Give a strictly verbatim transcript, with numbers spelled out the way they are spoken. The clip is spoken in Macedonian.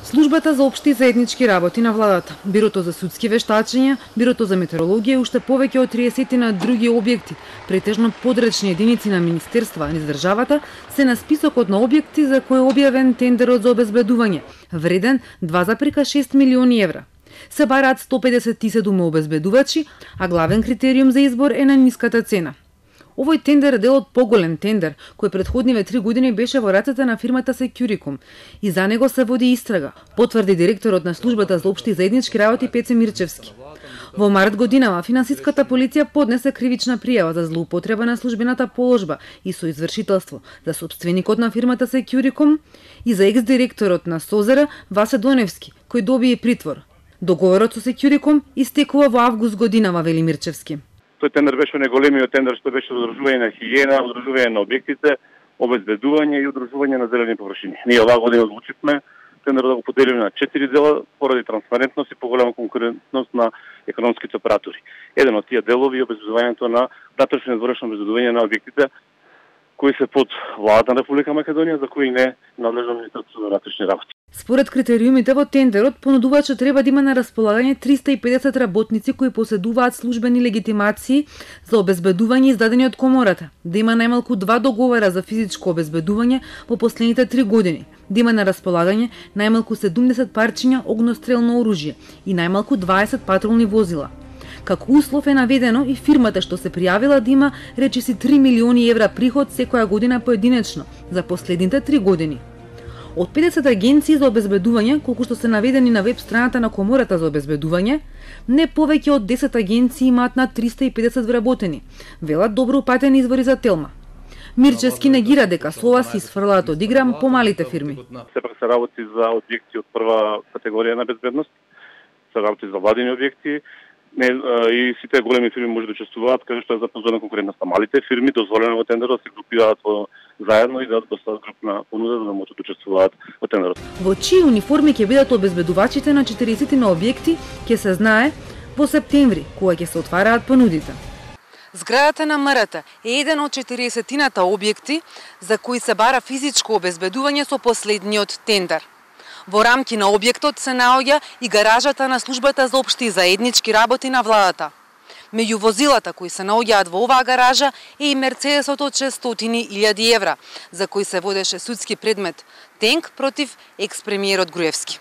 Службата за општи и заеднички работи на владата, Бирото за судски вештачења, Бирото за метеорологија и уште повеќе од триесет на други објекти, претежно подречни единици на министерства низ државата, се на списокот на објекти за кои е објавен тендерот за обезбедување, вреден два зарез шест милиони евра. Се бараат сто педесет и седум обезбедувачи, а главен критериум за избор е на ниската цена. Овој тендер е дел од поголем тендер, кој претходниве три години беше во рацете на фирмата Securicom и за него се води истрага, потврди директорот на службата за општи и заеднички работи Пеце Мирчевски. Во март годинава финансиската полиција поднесе кривична пријава за злоупотреба на службената положба и соизвршителство за сопственикот на фирмата Securicom и за екс-директорот на Созера Васе Доневски, кој доби притвор. Договорот со Securicom истекува во август годинава, вели Мирчевски. Тој тендер беше најголемиот тендер што беше одржување на хигиена, одржување на објектите, обезбедување и одржување на зелени површини. Ние оваа година одлучивме тендерот да го поделиме на четири дела поради транспарентност и поголема конкурентност на економските оператори. Еден од тие делови е обезбедувањето на внатрешно и надворешно обезбедување на објектите кои се под владата на Република Македонија, за кои не надлежно Министерството на внатрешни работи. Според критериумите во тендерот, понудувачот треба да има на располагање триста и педесет работници кои поседуваат службени легитимации за обезбедување издадени од комората, да има најмалку два договора за физичко обезбедување во последните три години, да има на располагање најмалку седумдесет парчиња огнестрелно оружје и најмалку дваесет патролни возила. Како услов е наведено и фирмата што се пријавила да има речиси три милиони евра приход секоја година поединечно за последните три години. Од педесет агенции за обезбедување, колку што се наведени на веб страната на Комората за обезбедување, не повеќе од десет агенции имаат над триста и педесет вработени, велат добро упатени извори за Телма. Мирчевски негира дека слова се изфрлаат од игра помалите фирми. Сепак се работи за објекти од прва категорија на безбедност, се работи за владени објекти, не, и сите големи фирми може да учествуваат, каде што е запазена конкурентноста. Малите фирми дозволено во тендерот се групираат во заедно и да достават групна понуда за да можат да учествуваат во тендерот. Во чии униформи ќе бидат обезбедувачите на четириесет на објекти ќе се знае во септември, кога ќе се отвараат понудите. Зградата на МРТ е еден од четириесетината објекти за кои се бара физичко обезбедување со последниот тендер. Во рамки на објектот се наоѓа и гаражата на службата за општи и заеднички работи на владата. Меѓу возилата кои се наоѓаат во оваа гаража е и Мерцедесот од шестстотини илјади евра, за кој се водеше судски предмет тенк против екс-премиерот Груевски.